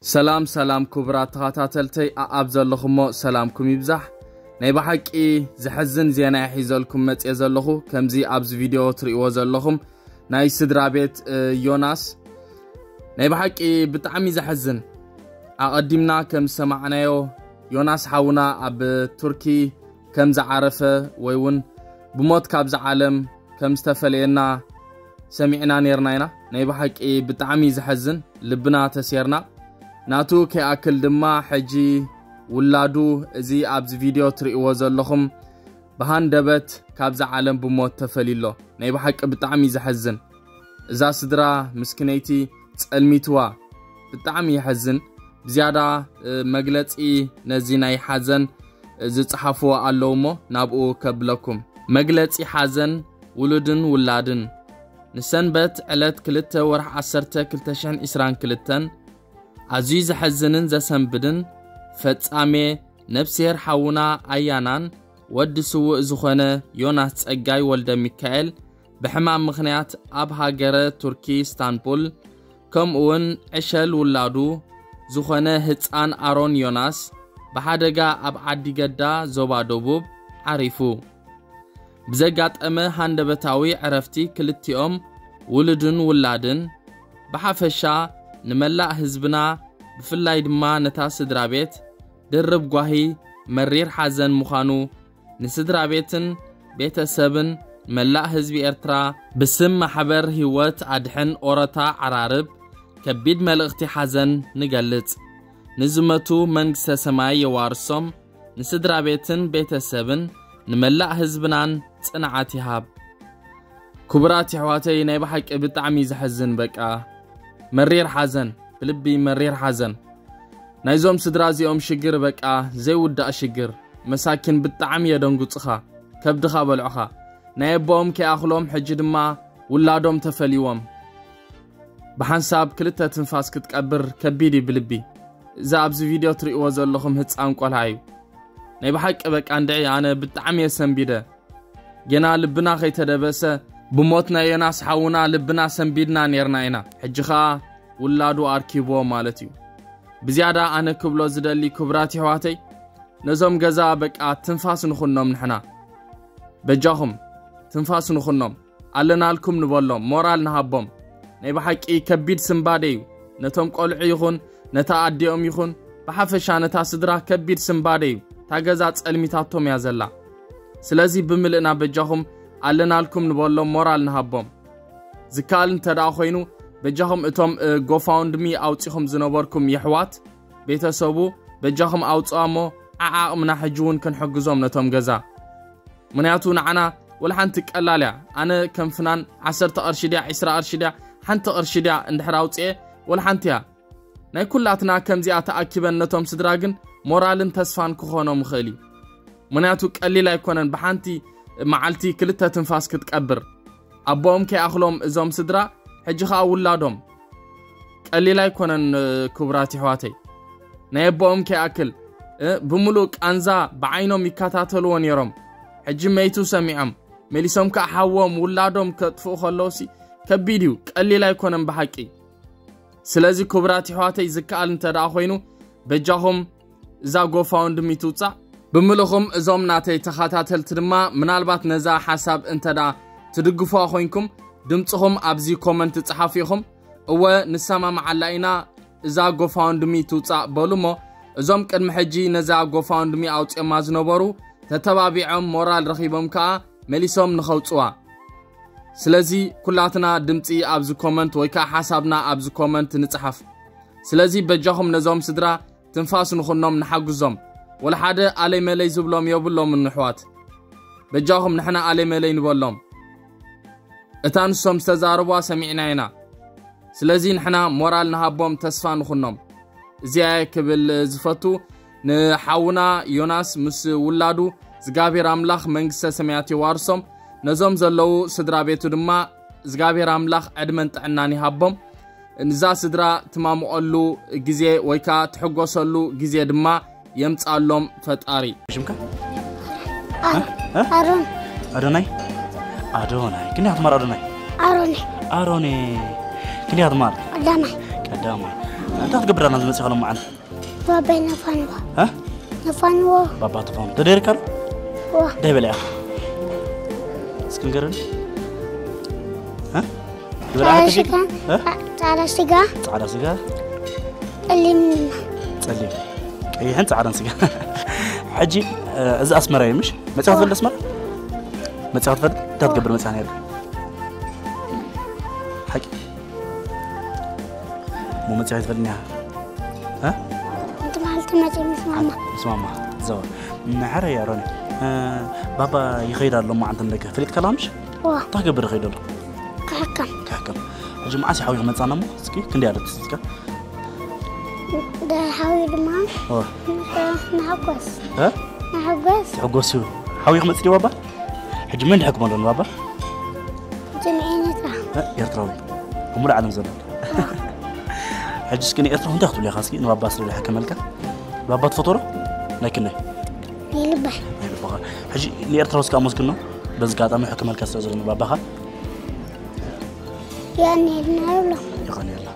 ሰላም ሰላም ክቡራት ተኸታተልተይ ኣኣብ ዘለኹሞ ሰላምኩም ይብዛሕ። ናይ ብሓቂ ዘሕዝን ዜና ሒዘልኩም መጽየ ዘለኹ። ከምዚ ኣብዚ ቪድዮ ትርእይዎ ዘለኹም ናይ ስድራ ቤት ዮናስ ናይ ብሓቂ ብጣዕሚ ዘሕዝን። ኣቐዲምና ከም ዝሰማዕናዮ ዮናስ ሓውና ኣብ ቱርኪ ከም ዝዓረፈ ወይ እውን ብሞት ካብዚ ዓለም ከም ዝተፈለየና ሰሚዕና ነርና ኢና። ናይ ብሓቂ ብጣዕሚ ዘሕዝን፣ ልብና ተሴርና። ናቱ ከይኣክል ድማ ሕጂ ውላዱ፣ እዚ ኣብዚ ቪድዮ ትርእይዎ ዘለኹም፣ ብሃንደበት ካብዛ ዓለም ብሞት ተፈልዩ ኣሎ። ናይ ብሓቂ ብጣዕሚ ዘሕዝን። እዛ ስድራ ምስክነይቲ ጸልሚትዋ። ብጣዕሚ የሕዝን። ብዝያዳ መግለጺ ነዚ ናይ ሓዘን ዝጽሓፍዎ ኣለዉ እሞ ናብኡ ከብለኩም። መግለጺ ሓዘን ውሉድን ውላድን። ንሰንበት ዕለት ክልተ ወርሒ ዓሰርተ ክልተ ሽሕን ዕስራን ክልተን ኣዝዩ ዘሕዝንን ዘሰንብድን ፈጻሜ ነብስሄር ሓውና ኣያናን ወዲ ስዉእ ዝኾነ ዮናስ ጸጋይ ወልደ ሚካኤል ብሕማም ምኽንያት ኣብ ሃገረ ቱርኪ ኢስታንቡል፣ ከምኡውን ዕሸል ውላዱ ዝኾነ ህጻን ኣሮን ዮናስ ብሓደጋ ኣብ ዓዲ ገዳ ዞባ ደቡብ ዓሪፉ። ብዘጋጠመ ሃንደበታዊ ዕረፍቲ ክልቲኦም ውሉድን ውላድን ብሓፈሻ ንመላእ ህዝብና ብፍላይ ድማ ነታ ስድራ ቤት ድርብ ጓሂ መሪር ሓዘን ምዃኑ ንስድራ ቤትን ቤተሰብን መላእ ህዝቢ ኤርትራ ብስም ማሕበር ህይወት ኣድሕን ኦረታ ዓራርብ ከቢድ መልእኽቲ ሓዘን ንገልጽ። ንዝመቱ መንግስተ ሰማይ የዋርሶም፣ ንስድራ ቤትን ቤተሰብን ንመላእ ህዝብናን ጽንዓት ይሃብ። ክቡራት የሕዋተይ ናይ ብሓቂ ብጣዕሚ ዘሕዝን በቃ መሪር ሓዘን ብልቢ መሪር ሓዘን ናይዞም ስድራ እዚኦም ሽግር በቃ ዘይውዳእ ሽግር መሳኪን ብጣዕሚ የደንጉጽኻ ከብድኻ በልዑኻ ናይ ኣቦኦም ከይኣኽሎም ሕጂ ድማ ውላዶም ተፈልይዎም ብሓንሳብ ክልተ ትንፋስ ክትቀብር ከቢድ እዩ ብልቢ እዛ ኣብዚ ቪድዮ ትርእይዎ ዘለኹም ህፃን ቆልዓ እዩ ናይ ብሓቂ በቃ እንድዒ ኣነ ብጣዕሚ የሰንቢደ ገና ልብና ከይተደበሰ ብሞት ናይ ዮናስ ሓውና ልብና ሰንቢድና ኔርና ኢና ሕጂ ኸኣ ውላዱ ኣርኪብዎ ማለት እዩ ብዝያዳ ኣነ ክብሎ ዝደሊ ክቡራት ይሕዋተይ ነዞም ገዛ በቃ ትንፋስ ንኹኖም ንሕና በጃኹም ትንፋስ ንኹኖም ኣለናልኩም ንበሎም ሞራል ንሃቦም ናይ ብሓቂ ከቢድ ስንባደ እዩ ነቶም ቆልዑ ይኹን ነታ ኣዲኦም ይኹን ብሓፈሻ ነታ ስድራ ከቢድ ስንባደ እዩ እታ ገዛ ጸልሚታቶም እያ ዘላ ስለዚ ብምልእና በጃኹም ኣለናልኩም ንበሎም ሞራል ንሃቦም ዝከኣል እንተ ደኣ ኮይኑ በጃኹም እቶም ጎፋውንድሚ ኣውጺኹም ዝነበርኩም የሕዋት ቤተሰቡ በጃኹም ኣውጽዋ እሞ ዓዓቕምና ሕጂ እውን ክንሕግዞም ነቶም ገዛ ምኽንያቱ ንዓና ወላ ሓንቲ ቀላል እያ ኣነ ከም ፍናን ዓሰርተ ቅርሺ ድያ ዒስራ ቅርሺ ድያ ሓንቲ ቅርሺ ድያ እንድሕር ኣውፅኤ ወላ ሓንቲ እያ ናይ ኩላትና ከምዚኣ ተኣኪበን ነቶም ስድራ ግን ሞራልን ተስፋን ክኾኖም ይኽእል እዩ ምኽንያቱ ቀሊል ኣይኮነን ብሓንቲ መዓልቲ ክልተ ትንፋስ ክትቀብር ኣቦኦም ከይኣኽሎም እዞም ስድራ ሕጂ ኸኣ ውላዶም ቀሊል ኣይኮነን ክቡራት ይሕዋተይ ናይ ኣቦኦም ከይኣክል ብምሉእ ቃንዛ ብዓይኖም ይከታተልዎ ነይሮም ሕጂ መይቱ ሰሚዖም መሊሶም ከኣ ሓዎም ውላዶም ከጥፍኡ ከለውሲ ከቢድ እዩ ቀሊል ኣይኮነን ብሓቂ ስለዚ ክቡራት ይሕዋተይ ዝከኣል እንተ ደኣ ኮይኑ በጃኹም እዛ ጎፋውንድሚ ትውጻእ ብምልኹም እዞም ናተይ ተኸታተልቲ ድማ ምናልባት ነዛ ሓሳብ እንተ ደኣ ትድግፉዋ ኮይንኩም ድምፅኹም ኣብዚ ኮመንት ጸሓፉ ኢኹም እወ ንሰማምዓላ ኢና እዛ ጎፋውንድሚ ትውጻእ በሉ እሞ እዞም ቅድሚ ሕጂ ነዛ ጎፋውንድሚ ኣውፅኦማ ዝነበሩ ተተባቢዖም ሞራል ረኺቦም ከኣ መሊሶም ንኸውፅዋ ስለዚ ኩላትና ድምፂ ኣብዚ ኮመንት ወይ ከዓ ሓሳብና ኣብዚ ኮመንት ንፅሓፍ ስለዚ በጃኹም ነዞም ስድራ ትንፋስ ንኹኖም ንሓግዞም ወላ ሓደ ኣለይ መለይ ዝብሎም የብሎምን ንሕዋት በጃኹም ንሕና ኣለይ መለይ ንበሎም እታ ንሶም ዝተዛረቧ ሰሚዕና ኢና ስለዚ ንሕና ሞራል ንሃቦም ተስፋ ንኹኖም እዚኣ ክብል ዝፈቱ ንሓውና ዮናስ ምስ ውላዱ እግዚኣብሔር ኣምላኽ መንግስተ ሰማያት የዋርሶም ነዞም ዘለዉ ስድራ ቤቱ ድማ እግዚኣብሔር ኣምላኽ ዕድመን ጥዕናን ይሃቦም ንዛ ስድራ ትማምቐሉ ግዜ ወይ ከዓ ትሕጎሰሉ ግዜ ድማ የምፃሎም ፈጣሪ ሽምካ ኣሮን ኣዶናይ ኣዶናይ ክንደይ ትማር ኣዶናይ ኣሮን ኣሮን ክንደይ ትማር ቀዳማይ ቀዳማይ እንታይ ክትገብር ኣና ዝመጽእ ከሎ መዓል? ባባይ ነፋንዎ እ? ነፋንዎ ባባ ተፋኑ ተደይርካ ዶ? ዋ እንታይ በለ ኢኻ? እስኪ ንገረኒ። እ? ዝበልዓ ፃዕዳ ተሸይጥ? ስጋ እ? ፃዕዳ ስጋ ፃዕዳ ስጋ፣ ጠሊም ጸሊም፣ ቀይሕን ፃዕዳን ስጋ። ሕጂ እ፣ እዚ ኣስመራ እዩ ምሽ? መጽኻ ትፈልጥ ኣስመራ? መጽኻ ትፈልጥ? እንታይ ትገብር መጽኻ ነይርካ? ሓቂ? እሞ መጽኻ ትፈልጥ እኒኣ? እ? እንት ማለት መፅእ ምስ ማማ ምስ ማማ። ዘዋ። ንሓረ እያ ሮኒ። እ፣ ባባ ይኸይድ ኣሎ እሞ ዓንተ ንደገ። ፈሊጥካ ኣላ ምሽ? ዋ እንታይ ክገብር ይኸይድ ኣሎ? ክሕከም ክሕከም። ሕጂ መዓስ እዩ ሓዊ ክመጻና እሞ? እስኪ ክንደይ ኣለት እስካ? ደሓዊ ድማ ኦ፣ ንሓጎስ እ? ንሓጎስ ትሕጎስ እዩ። ሓዊ ክመጽእ ድዩ ባባ? ሕጂ መን ድሕክሞ ኣሎ ንባባ? ጅምዒ ነትራ እ? ኤርትራዊ። ኣብ ሙሉእ ዓለም ዘሎ። ሕጂ እስኪ ንኤርትራዊ እንታይ ክትብሉ ኢኻ እስኪ ንባባ ስለ ዝሕከመልካ? ባባ ትፈትዎ ዶ? ናይ ክንደይ? ይልባይ ናይ ልብኻ። ሕጂ ንኤርትራዊ እስኪ ኣመስግኖ። በዚ ኣጋጣሚ ሕክመልካ ስለ ዘሎ ንባባኻ። ያኔልና ይብሎ ይኾን የላ።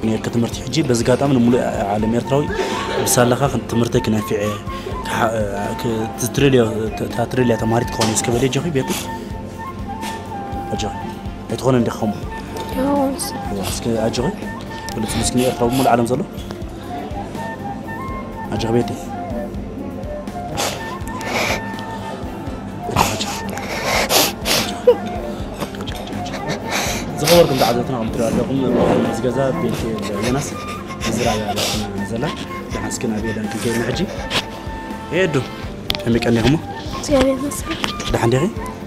ነርክ ትምህርቲ ሕጂ በዚ ኣጋጣሚ ንምሉእ ዓለም ኤርትራዊ ብሳላኻ ትምህርተይ ክነፊዐ ክሓ- ክ- ትትረልዮ ተ- ትትረልያ ተማሃሪት ክኾን እስከ በለ ጆኺ ቤት ኣጆኺ ኣይትኾነ እንዲ ኸሙ ይኸውንስ እስከ ኣጆኺ ብልጽ ምስኪ ኤርትራዊ ሙሉ ዓለም ዘሎ ኣጆኺ ቤት ዝኸበርኩም ተዓዘብትና ከም ትሪኡ ኣለኹም እዚ ገዛ ቤት ዮናስ ዝራያ ዘላ ደሓን እስኪ ናብ ኤደን ክንከይድ ሕጂ ኤዱ ከመይ ቀኒኹሞ እግዚኣብሔር ይመስገን ደሓን ዲኺ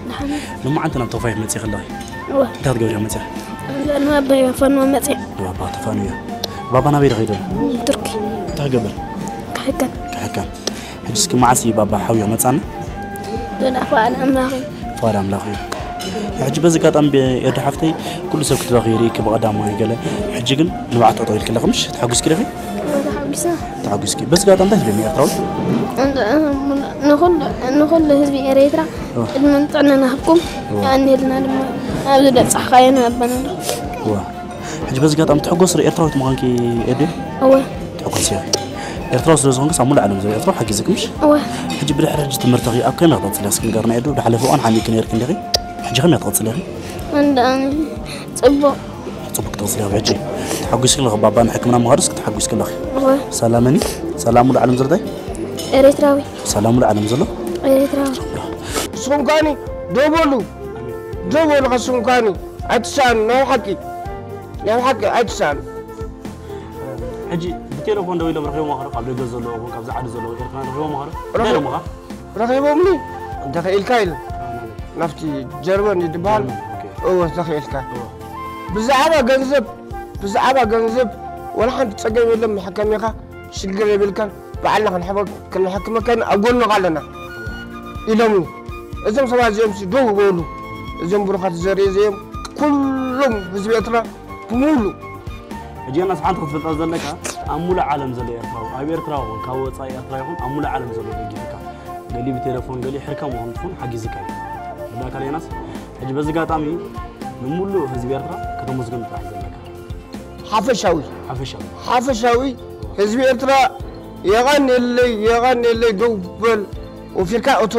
ደሓን ንመዓንቲ ናብ ተፋይ መፅእ ከለኺ እወ እንታይ ክትገብሪ መፅእ ንባባይ ፈንዎ መፅእ ባባ ተፋኑ እያ ባባ ናበይ ዶ ከይዱ ቱርኪ እንታይ ክገብር ክሕከም ክሕከም ሕጂ እስኪ መዓስ እዩ ባባ ሓውዮ መፃና ዶዳ ፈቃድ ኣምላኽ እዩ ፈቃድ ኣምላኽ እዩ ሕጂ በዚ ኣጋጣሚ ኤዱ ሓፍተይ ኩሉ ሰብ ክትረኺ ይርኢ ብቐዳማዊ ገለ ሕጂ ግን ንባዕቲ ጠጠው ኢልክለኺ ምሽ ተሓጒስኪ ዲኺ እወ ተሓጒሰ ተሓጒስኪ በዚ ኣጋጣሚ እንታይ ትብለኒ ኤርትራዊ ንኹሉ ህዝቢ ኤረትራ ዕድመን ጥዕናን ይሃብኩም የቐንየልና ድማ ኣብዚ በጻሕካዮ ንባባና እዋ ሕጂ በዚ ኣጋጣሚ ትሕጎስ ዶ ኤርትራዊት ምዃንኪ ኤዱ እወ ትሕጎስ ኢኺ ኤርትራዊ ስለ ዝኾንክስ ኣብ ሙሉእ ዓለም ዘሎ ኤርትራዊ ሓጊዝኪ ምሽ እወ ሕጂ ብድሕሪ ሕጂ ትምህርትኺ ኣብ ከመይ ክትቕፅሊ እስኪ ንገርና ኤዱ ብሓለፈ እዋን ሓሚኪ ነይርኪ እንዲኺ ሕጂ ከመይ ክትቕፅሊ ኢኺ እንዳ ጽቡቕ ፅቡቅ ክትቕፅሊ ኢኺ ሕጂ ተሓጒስኪ ኣለኺ ባባ ንሕክምና ምኻዱስ ክትሓጒስኪ ኣለኺ እወ ሰላመኒ ሰላም ሙሉእ ዓለም ዝርዳይ ኤረትራዊ ሰላም ሙሉእ ዓለም ዘሎ ኤረትራዊ ንስኹም ከኣኒ ደው በሉ ደው በሉ ከስኹም ከኣኒ ኣይትሰኣኑ ናይ ሓቂ ናይ ሓቂ ኣይትሰኣኑ ሕጂ ብቴሌፎን ደው ኢሎም ረኺቦም ማኸረ ካብ ደገ ዘለዎ ይኹን ካብዚ ዓዲ ዘለዎ ኤርትራ ረኺቦም ማኸረ እንታይ ኢሎም ኻ ረኺቦምኒ እንተኽኢልካ ኢሉ ናብቲ ጀርመን እዩ ዝበሃል እወ ተኽኢልካ ብዛዕባ ገንዘብ ብዛዕባ ገንዘብ ወላ ሓንቲ ፀገም የለን መሐከሚኻ ሽግር የብልካን ባዕልና ክንሕክመካን ኣብ ጎንኻ ኣለና ኢሎምኒ እዞም ሰባት እዚኦም ደው በሉ እዞም ብሩኻት ዘርኢ እዚኦም ኩሎም ህዝቢ ኤርትራ ብምሉ ሕጂ ዮናስ ሓንቲ ክትፈልጣ ዘለካ ኣብ ሙሉእ ዓለም ዘሎ ኤርትራዊ ኣብ ኤርትራ ይኹን ካብ ወፃኢ ኤርትራ ይኹን ኣብ ሙሉእ ዓለም ዘሎ ደጊፍካ ገሊ ብቴሌፎን ገሊ ሕርከም ይኹን ትኹን ሓጊዝካ እዩ ብላካ ዮናስ ሕጂ በዚ ኣጋጣሚ ንሙሉእ ህዝቢ ኤርትራ ከተመስግን ጥራሕ ዘለካ ሓፈሻዊ ሓፈሻዊ ሓፈሻዊ ህዝቢ ኤርትራ የቐንየለይ የቐንየለይ ደው በል ወፊርካ እቶ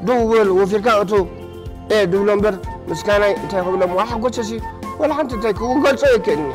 ደው በል ወፊርካ እቶ እየ ድብሎ እምበር ምስጋናይ እንታይ ክብሎም ዋላ ሓጎሰሲ ዋላ ሓንቲ እንታይ ክገልጾ የክእልኒ